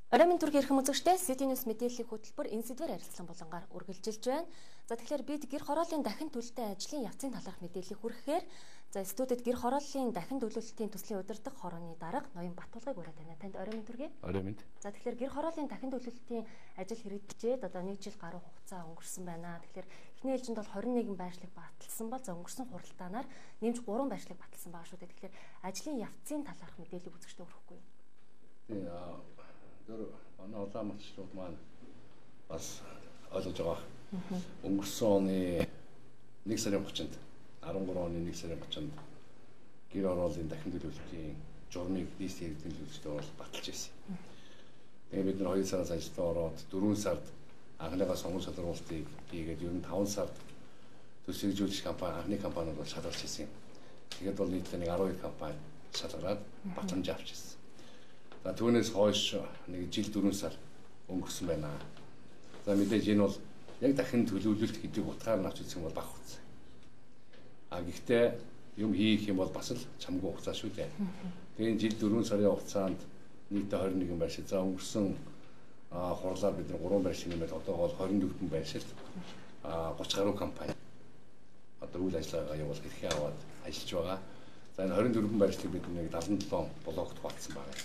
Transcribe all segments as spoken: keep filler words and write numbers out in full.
Оройн төргийн эрхэм үзэгчдээ City News мэдээллийн хөтөлбөр энэ сэдвээр харилцан булангаар үргэлжилж байна. За тэгэхээр бид гэр хорооллын дахин төлөлтөй ажлын явцын талаарх мэдээллийг хүргэхээр за студид гэр хорооллын дахин төлөвлөлтийн төслийн удирдах хорооны дарга Ноён Батулгыг ураад байна. Танд оройн төргий. Оройн мэнд. За тэгэхээр гэр хорооллын дахин төлөвлөлтийн ажил хэрэгжээд одоо нэг жил гаруй хугацаа өнгөрсөн байна. Тэгэхээр эхний ээлжинд бол хорин нэгэн байршлыг баталсан бол за өнгөрсөн хуралдаанаар нэмж гурван байршлыг баталсан байгаа шүү дээ. Тэгэхээр ажлын явцын талаарх мэдээллийг үзэгчдээ өргөхгүй юу? Тийм аа Тэр манай улаанмалчлууд маань бас ойлгож байгаа. Өнгөрсөн оны нэг сарын гуравчнд арван гурван оны нэг сарын гуравчнд гэр хорооллын дахин төлөвлөлтийн журмыг нийслэлийн эрдэнэ төлөвлөлтөөр бол баталж ирсэн. Тэгээ бид нар хоёр сараас ажилдаа ороод дөрвөн сард анхныхаа сонгуул шалгуулалтыг хийгээд ер нь таван сард төсвөлжүүлэх компани анхны компаниуд бол шалгарч ирсэн. Тэгээд бол нийтлээ нэг арван хоёр компани шалгараад батламж авч ирсэн. За түүнээс хойш нэг жил дөрвөн сар өнгөрсөн байна. За мэдээж энэ бол яг дахин төлөвлөлт гэдэг утгаар нь авч үзэх юм бол бага хугацаа. А гэхдээ юм хийх юм бол бас л чамгүй хугацаа шүү дээ. Тэгээд жил дөрвөн сарын хугацаанд нийтдээ хорин нэгэн байршил. За өнгөрсөн хурлаар бид нар гурван байршил нэмээд одоо бол хорин дөрвөн байршил а гуравч гаруй компани одоо үйл ажиллагаагаа явуул хэрхээ аваад ажиллаж байгаа. За энэ хорин дөрвөн байршлыг бид нэг дадлан долоон блокт хуваалцсан байна.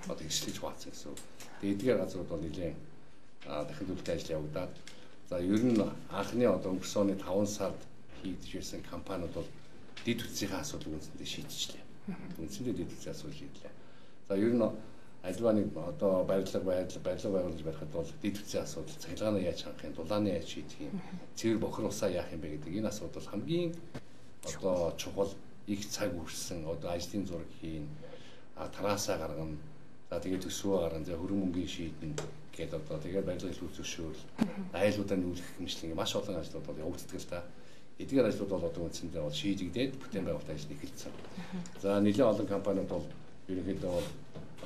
Одоо ихшлэж хуваалцсан гэсэн. Тэгээд эдгээр газрууд бол нэлээд дахин төлөвлөлтийн ажил явагдаад за ер нь анхны одоо өнгөрсөн оны таван сард хийгдэж ирсэн компаниуд бол дэд үтсийнхээ асуудлыг үндсэндээ шийдчихлээ. Үндсэндээ дэд үтсийн асуудал шийдлээ. За ер нь альваныг одоо барилга байрлал барилга байгуулж барихад бол дэд үтсийн асуудал, цахилгааны яаж хангах юм, дулааны яаж шийдэх юм, цэвэр бохир усаа яах юм бэ гэдэг энэ асуудал хамгийн одоо чухал их цаг үрсэн одоо ажлын зураг хийн, тараасаа гаргана. За тэгээд төсвөө гаргана, за хөрөн мөнгөний шийдэн гэдэг одоо тэгээд барилга илүү зөвшөөрөл, айлуудаа нүүлгэх хэмжлэн маш олон ажлууд бол явагддаг л да. Эдгээр ажлууд бол одоо үндсэндээ бол шийдэгдээд бүтээн байгуулалт ажил эхэлсэн. За нэлээд олон компаниуд бол ерөнхийдөө бол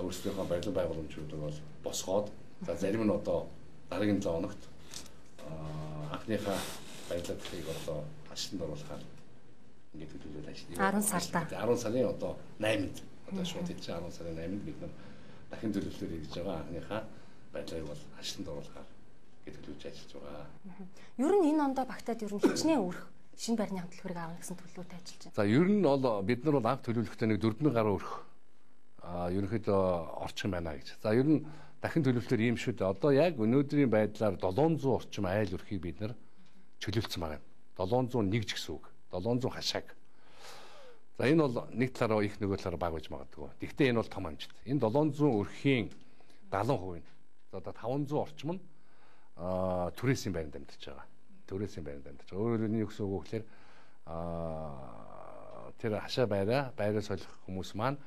өөрсдийнхөө барилга байгууламжуудыг бол босгоод за зарим нь одоо дараагийн зам хоногт анхныхаа барилгыг одоо ажилтнанд оруулахаар ингээд төлөвлөж ажилладаг. арван сарда. арван сарын одоо найманд одоо шууд хэлж арван сарын найманд бид нар дахин төлөвлөлөөр хийж байгаа анхныхаа барилгыг бол ажилтнанд оруулахаар ингээд төлөвлөж ажиллаж байгаа. Ер нь энэ ондоо багтаад ер нь хичнээн өрх шинэ байрны хамтлагыг аавна гэсэн төлөвлөлтөд ажиллаж байна. За ер нь бол бид нар бол анх төлөвлөлтөд нэг дөрвөн гаруй өрх а ерөнхийдөө орчин байна гэж. За ер нь дахин төлөвлөлтөөр ийм шүү дээ. Одоо яг өнөөдрийн байдлаар долоон зуун орчим айл өрхийг бид нар чөлөөлсөн байна. долоон зуун нэг ч гэсэн үг. долоон зуун хашааг. За энэ бол нэг талаараа их нөгөө талаараа баг байж магадгүй. Гэхдээ энэ бол том амжилт. Энэ долоон зуун өрхийн дагалан хувь нь. За одоо таван зуун орчим нь аа түрээсийн байранд амьдарч байгаа. Түрээсийн байранд амьдарч байгаа. Өөрөөр нь юу гэсэн үг вэ гэхээр аа тэр хашаа байраа байраа солих хүмүүс маань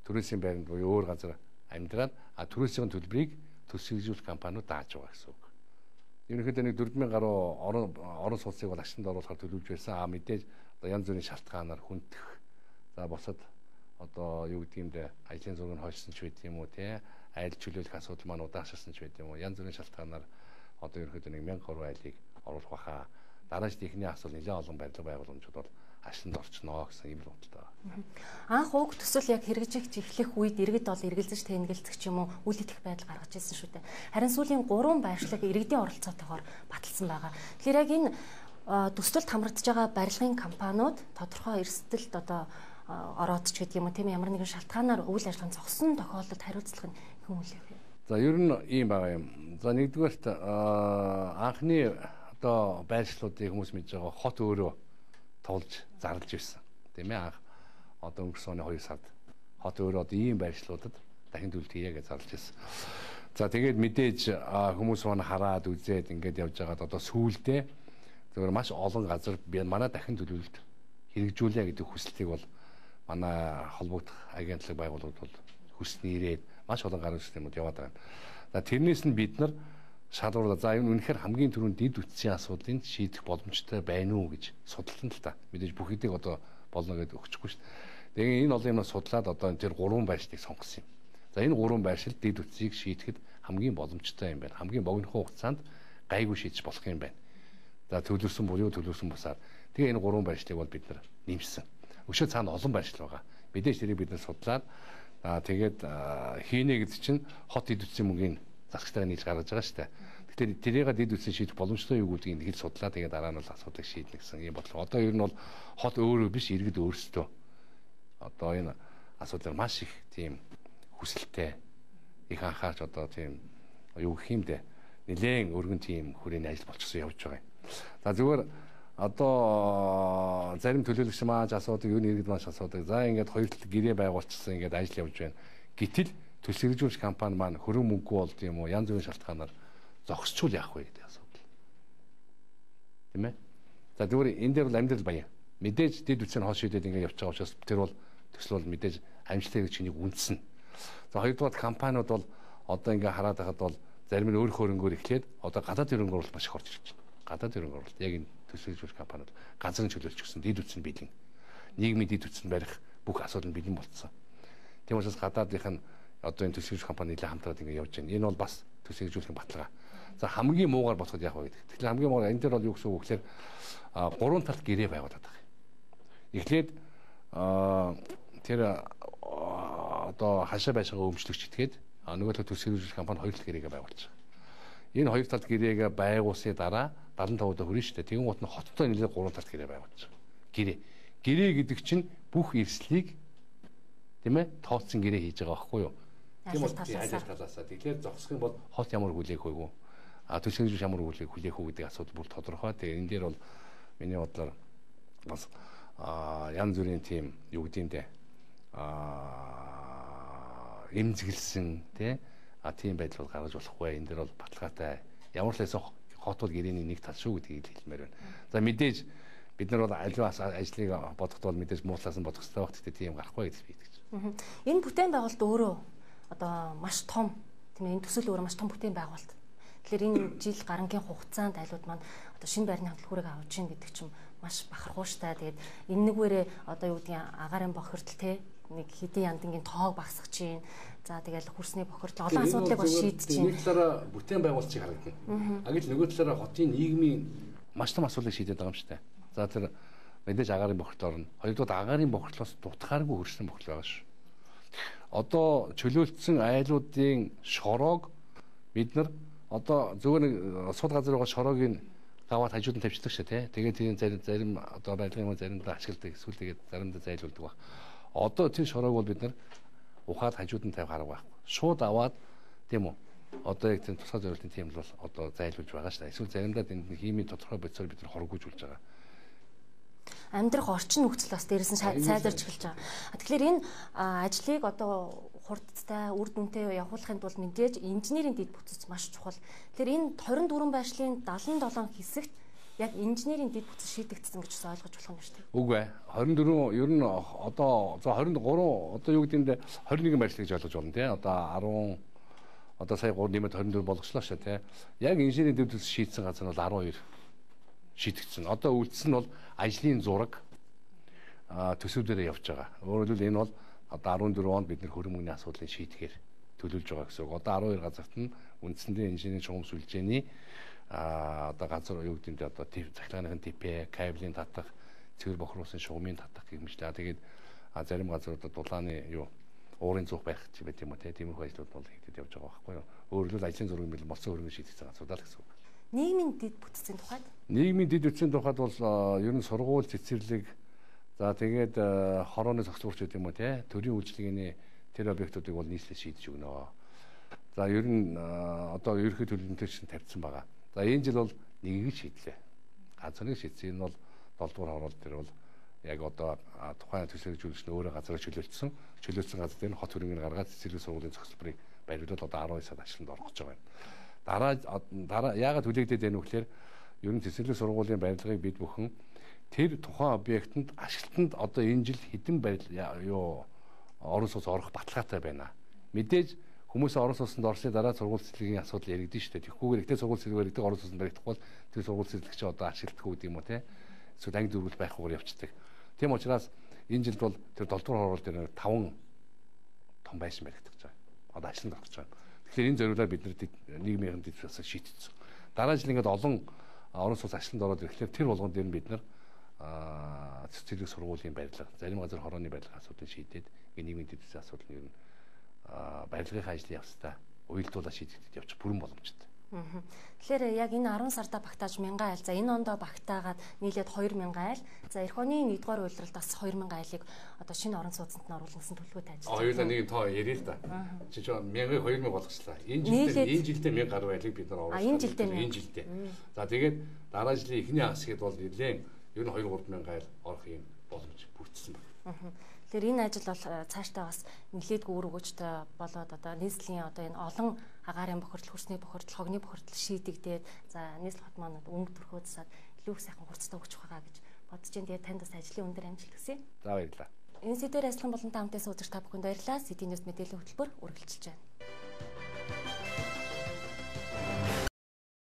түрээсийн байранд буюу өөр газар амьдраад а түрээсийн төлбөрийг төсвөлжүүлэх компаниуд дааж байгаа гэсэн үг. Ерөнхийдөө нэг дөрвөн мянган гаруй орон орон сууцыг бол ашинд оруулахаар төлөвлөж байсан. А мэдээж одоо янз бүрийн шалтгаанаар хүндэх. За босод одоо юу гэдэг юм бэ? Ажлын зургийг хойшсон ч байт юм уу те? Айл чөлөөлөх асуудал маань удаашрсан ч байт юм уу? Янз бүрийн шалтгаанаар одоо ерөнхийдөө нэг мянган гаруй айлыг оруулах баха. Дараач техникийн асуудал нэлээд олон барилга байгууламжууд бол ашинд орчноо гэсэн юм бодолтой байна. Анх уг төсөл яг хэрэгжих эхлэх үед иргэд бол эргэлзэж тэнэгэлцэх ч юм уу үйл идэх байдал гаргаж ирсэн шүү дээ. Харин сүүлийн гурван байршлаг иргэдийн оролцоотойгоор баталсан байгаа. Тэгэхээр яг энэ төсөлд хамрагдж байгаа барилгын компаниуд тодорхой эрсдэлд одоо ороод ч гэдэг юм уу тийм ямар нэгэн шалтгаанаар үйл ажиллагаанд зогссон тохиолдолд хариуцлага нь хэн үлээх вэ? За ер нь ийм байгаа юм. За нэгдүгээрт анхны одоо байршлуудыг хүмүүс мэдж байгаа хот өөрөө тулж зарлж ирсэн. Тийм ээ анх одоо өнгөрсөн оны хоёр сард хот өөрөө одоо ийм байршлуудад дахин төлөлт хийе гэж зарлж ирсэн. За тэгээд мэдээж хүмүүс маань хараад үзээд ингээд явж байгаад одоо сүүлдээ зөвхөн маш олон газар би манай дахин төлөвлөлт хэрэгжүүлээ гэдэг хүслийг бол манай холбогдох агентлаг байгууллагууд бол хүснэ ирээд маш олон гарын системүүд яваад байна. За тэрнээс нь бид нар шалгуурлаа. За энэ үнэхээр хамгийн түрүүнд дэд үтсийн асуудлыг шийдэх боломжтой байна уу гэж судалсан л та. Мэдээж бүх хэдийг одоо болно гэдээ өгчихгүй шүү дээ. Тэгээ энэ олон юмнаас судлаад одоо тэр гурван байршлыг сонгосон юм. За энэ гурван байршил дэд үтсийг шийдэхэд хамгийн боломжтой юм байна. Хамгийн богино хугацаанд гайгүй шийдэж болох юм байна. За төлөвлөсөн буюу төлөвлөсөн бусаар. Тэгээ энэ гурван байршлыг бол бид нар нэмсэн. Өшөө цаана олон байршил байгаа. Мэдээж тэрийг бид нар судлаад тэгээд хийнэ гэдэг чинь хот дэд үтсийн мөнгөний засагтайгаа нийлж гаргаж байгаа шүү дээ. Тэгэхээр тэрийг дэд үтсэн шийдэх боломжтой юу гэдгийг хэл судлаа. Тэгээд дараа нь бол асуудыг шийднэ гэсэн юм бодлого. Одоо ер нь бол хот өөрөө биш иргэд өөрсдөө одоо энэ асуудал маш их тийм хүсэлтэй их анхаарч одоо тийм юу гэх юм бэ? Нэлээд өргөн тийм хүрээний ажил болчихсон явж байгаа юм. За зүгээр одоо зарим төлөөлөгч маань асуудаг, юу нэргэд маш асуудаг. За ингээд хоёр талд гэрээ байгуулчихсан ингээд ажил явж байна. Гэтэл төсөл хэрэгжүүлж компани маань хөрөн мөнгөгүй болд юм уу? Янз бүрийн шалтгаанаар зогсчул яах вэ гэдэг асуудал. Тийм ээ. За зүгээр энэ дээр бол амьдрал баян. Мэдээж дэд үтсийн хоол шийдээд ингээд явж байгаа учраас тэр бол төсөл бол мэдээж амжилттай гэж чинийг үнэлсэн. За хоёрдугаар компаниуд бол одоо ингээд хараад байхад бол зарим нь өөр хөрөнгөөр эхлээд одоо гадаад хөрөнгө оруулалт маш их орж ирж байна. Гадаад хөрөнгө оруулалт яг энэ төсөл хэрэгжүүлэх компаниуд газрын чөлөөлж өгсөн дэд үтс нь бэлэн. Нийгмийн дэд үтс нь барих бүх асуудал нь бэлэн болцсон. Тийм учраас гадаадынх нь одоо энэ төсөл хэрэгжүүлэх компани нэлээд хамтраад ингээд явж байна. Энэ бол бас төсөл хэрэгжүүлэх баталгаа. За хамгийн муугаар бодоход яах вэ гэдэг. Тэгэхээр хамгийн муугаар энэ дээр бол юу гэсэн үг гэхээр гурван талд гэрээ байгуулад байгаа юм. Эхлээд тэр одоо хашаа байшингаа өмчлөгч итгээд нөгөө талд төсөл хэрэгжүүлэх компани хоёр талд гэрээгээ байгуулж байгаа. Энэ хоёр талд гэрээгээ байгуулсны дараа дадлан тавуудаа хүрнэ шүү дээ. Тэгэн гут нь хоттой нэлээд гурван талд гэрээ байгуулж байгаа. Гэрээ. Гэрээ гэдэг чинь бүх эрсдлийг тийм ээ тооцсон гэрээ хийж байгаа байхгүй юу? Тийм бол ажил талаасаа. Тэгэхээр зогсох юм бол хот ямар хүлээх вэ? А төсөл хэрэгжүүлэх ямар хүлээх хүлээх үү гэдэг асуудал бүр тодорхой. Тэгээ энэ дээр бол миний бодлоор бас янз бүрийн тийм юу гэдэг юм бэ? Аа эмзэглсэн тий а тийм байдал бол гаргаж болохгүй. Энэ дээр бол баталгаатай ямар ч лайсан хот бол гэрээний нэг тал шүү гэдгийг хэлмээр байна. За мэдээж бид нар бол аливаа ажлыг бодоход бол мэдээж муутлаас нь бодох хэрэгтэй байх. Гэхдээ тийм гарахгүй гэж би хэлж байна. Энэ бүтээн байгуулалт өөрөө одоо маш том тийм энэ төсөл өөрөө маш том бүтээн байгуулалт. Тэгэхээр энэ жил гарангийн хугацаанд айлууд маань одоо шинэ байрны хамтлагуудыг авч ийн гэдэг чинь маш бахархууштай. Тэгээд энэ нэгвэрээ одоо юу гэдгийг агаарын бохирдол те нэг хэдийн яндангийн тоог багсгах чинь. За тэгэл хөрсний бохирдол олон асуудлыг бас шийдэж чинь. Нэг талаараа бүтээн байгуулалтыг харагдана. А гэвэл нөгөө талаараа хотын нийгмийн маш том асуудлыг шийдээд байгаа юм шүү дээ. За тэр мэдээж агаарын бохирдол орно. Хоёрдугаар агаарын бохирдлоос дутхааргүй хөрсний бохирдол байгаа шүү. Одоо чөлөөлтсөн айлуудын шороог бид нар одоо зөвхөн нэг сууд газар байгаа шороог нь гаваад хажууд нь тавьчихдаг шээ тий. Тэгээд тийм зарим зарим одоо байдлын юм заримдаа ашигладаг эсвэл тэгээд заримдаа зайлуулдаг баг. Одоо тэр шороог бол бид нар ухаад хажууд нь тавих арга байхгүй. Шууд аваад тийм үү. Одоо яг тийм тусгай зорилтын тийм л бол одоо зайлуулж байгаа шүү дээ. Эсвэл заримдаа энэ химийн тодорхой бодисоор бид нар хоргоожүүлж байгаа. Амьдрах орчин нөхцөл бас дээрээс нь сайжирч эхэлж байгаа. Тэгэхээр энэ ажлыг одоо хурдтай үр дүнтэй явуулахын тулд мэдээж инженерийн дэд бүтц маш чухал. Тэгэхээр энэ хорин дөрвөн байшлийн дадлан долоон хэсэгт яг инженерийн дэд бүтц шийдэгдсэн гэж ойлгож болох юм шүү дээ. Үгүй ээ. хорин дөрвөн ер нь одоо за хорин гурван одоо юу гэдэг нь хорин нэгэн байшил гэж ойлгож байна тий. Одоо арван одоо сая гурав нэмээд хорин дөрвөн болгочлоо шүү тий. Яг инженерийн дэд бүтц шийдсэн газар нь бол арван хоёр шийдэгдсэн. Одоо үлдсэн нь бол ажлын зураг төсөвлөрөө явж байгаа. Өөрөөр хэлбэл энэ бол одоо арван дөрвөн онд бид нэр хөрөн мөнгөний асуудлыг шийдэхээр төлөвлөж байгаа гэсэн үг. Одоо арван хоёр газарт нь үндсэндээ инженерийн чухам сүлжээний а одоо газар юу гэдэг нь одоо цахилгааныхын типэ, кабелийн татах, цэвэр бохируусан шугамын татах гэх мэтлээ. Тэгээд зарим газруудад дулааны юу уурын зуух байх ч юм уу тиймэрхүү ажлууд бол хийгдэж явж байгаа байхгүй юу. Өөрөөр хэлбэл ажлын зураг мэл моцсон хөрөнгө шийдэх асуудал гэсэн үг. Нийгмийн дэд бүтцийн тухайд нийгмийн дэд бүтцийн тухайд бол ер нь сургууль цэцэрлэг за тэгээд хорооны зохицуулч гэдэг юм уу те төрийн үйлчлэгээний тэр объектуудыг бол нийслэл шийдэж өгнө. За ер нь одоо ерөнхий төлөвлөлтөд чинь тавьсан байгаа. За энэ жил бол нэгийг шийдлээ. Газрыг шийдсэн. Энэ бол долдуур хороол дээр бол яг одоо тухайн төсөл хэрэгжүүлэгч нь өөрөө газраа чөлөөлсөн. Чөлөөлсөн газар дээр хот хөрөнгөний гаргаад цэцэрлэг сургуулийн зохицолборыг бариулаад одоо арван сард ажилтнанд орох гэж байгаа юм. Дараа дараа яагаад хүлээгдээд байна вэ гэхээр ер нь цэцэрлэг сургуулийн барилгыг бид бүхэн тэр тухайн объектэнд ашиглалтанд одоо энэ жил хэдэн барил юу орон сууц орох баталгаатай байна. Мэдээж хүмүүс орон сууцнд орсны дараа сургууль цэцэрлэгийн асуудал яригдэн шүү дээ. Тэгэхгүйгээр ихтэй сургууль цэцэрлэг баригдаг орон сууцнд баригдахгүй бол тэр сургууль цэцэрлэгч одоо ашиглахгүй гэдэг юм уу те. Эсвэл анги дөрвөл байхгүйгээр явцдаг. Тийм учраас энэ жилд бол тэр долдуур хороол дээр таван том байшин баригдаж байгаа. Одоо ажланд орж байгаа. Тэгэхээр энэ зориулаар бид нийгмийн дэд бүтцийг шийдчихсэн. Дараа жил ингээд олон орон сууц ажланд ороод ирэхлээр тэр болгон дээр нь бид нар цэцэрлэг сургуулийн барилга, зарим газар хорооны барилга асуудлыг шийдээд нийгмийн дэд бүтцийн асуудал нь ер нь барилгын ажлын явцдаа уялдуулаад шийдэгдэж явчих бүрэн боломжтой. Тэгэхээр яг энэ арван сарда багтааж мянган айл. За энэ ондоо багтаагаад нийлээд хоёр мянган айл. За эх оны нэгдүгээр үйлрэлд бас хоёр мянган айлыг одоо шинэ орон сууцнд нь оруулах гэсэн төлөвлөгөөтэй ажиллаж байна. Хоёулаа нэг тоо ярил л да. Чи ч мянгаыг хоёр мянга болгочлаа. Энэ жилдээ энэ жилдээ мянга гаруй айлыг бид нар оруулсан. Энэ жилдээ энэ жилдээ. За тэгээд дараа жилийн эхний хагасгэд бол нэлээд ер нь хоёр гурван мянган айл орох юм боломж бүрдсэн байна. Тэгэхээр энэ ажил бол цаашдаа бас нэлээдгүй үр өгөөжтэй болоод одоо нийслэлийн одоо энэ олон агаарын бохирдол, хөрсний бохирдол, хогны бохирдол шийдэгдээд за нийслэл хот маань өнгө төрхөө засаад илүү их сайхан хурцтай өгчих байгаа гэж бодож байна. Тэгээд танд бас ажлын өндөр амжилт хүсье. За баярлалаа. Энэ сэдвээр ажиллан болон та хамтдаа сууж та бүхэнд баярлалаа. Сэтийн Ньюс мэдээллийн хөтөлбөр үргэлжилж байна.